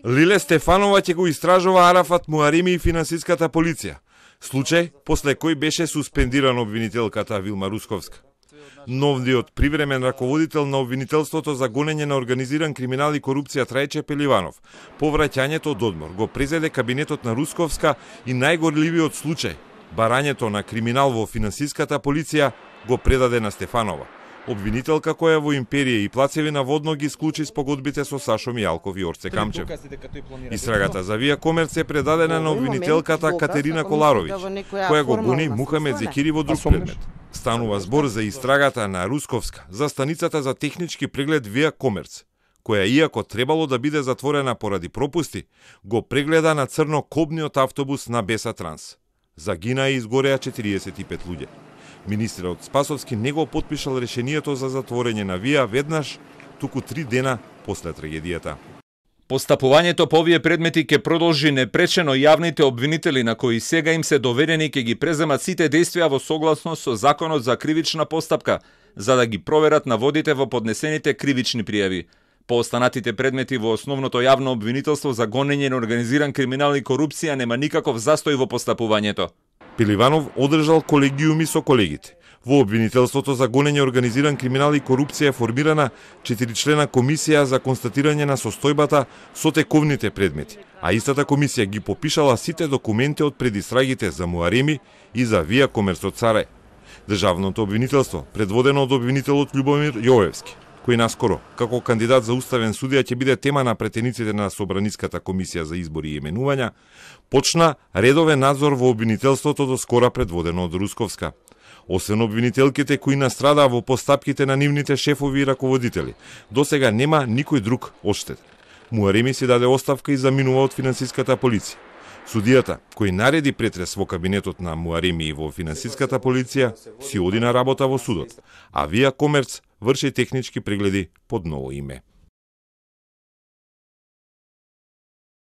Лиле Стефанова ќе го истражува Арафат Муареми и финансиската полиција. Случај после кој беше суспендиран обвинителката Вилма Русковска. Новиот привремен раководител на обвинителството за гонење на организиран криминал и корупција Трајче Пеливанов, по враќањето од одмор го презеде кабинетот на Русковска и најгорливиот случај, барањето на криминал во финансиската полиција, го предаде на Стефанова, обвинителка која во империја и плацевина водно ги склучи спогодбите со Сашо Мијалков и Орце Камчев. Истрагата за Вија Комерц е предадена на обвинителката Катерина Коларовиќ, која го гони Мухамед Зекири во друг предмет. Станува збор за истрагата на Русковска за станицата за технички преглед Вија Комерц, која иако требало да биде затворена поради пропусти, го прегледа на црно кобниот автобус на Беса Транс. Загина и изгореа 45 луѓе. Министерот Спасовски не го потпишал решението за затворење на Вија веднаш, туку 3 дена после трагедијата. Постапувањето по овие предмети ќе продолжи непречено. Јавните обвинители на кои сега им се доверени ќе ги преземат сите действија во согласност со Законот за кривична постапка, за да ги проверат наводите во поднесените кривични пријави. По останатите предмети во основното јавно обвинителство за гонење на организиран криминал и корупција нема никаков застој во постапувањето. Пеливанов одржал колегиуми со колегите. Во обвинителството за гонење организиран криминал и корупција е формирана 4-члена комисија за констатирање на состојбата со тековните предмети, а истата комисија ги попишала сите документи од предистрагите за Муареми и за Вија Комерц од Сарај. Државното обвинителство, предводено од обвинителот Љубомир Јовевски, кој наскоро, како кандидат за уставен судија ќе биде тема на претениците на Собраниската комисија за избори и именувања, почна редовен надзор во обвинителството до скора предводено од Русковска. Освен обвинителките кои настрадаа во постапките на нивните шефови и раководители, досега нема никој друг одштет. Муареми си даде оставка и заминува од финансиската полиција. Судијата, кој нареди претрес во кабинетот на Муареми и во финансиската полиција, си оди на работа во судот, а Вија Комерц врши технички прегледи под ново име.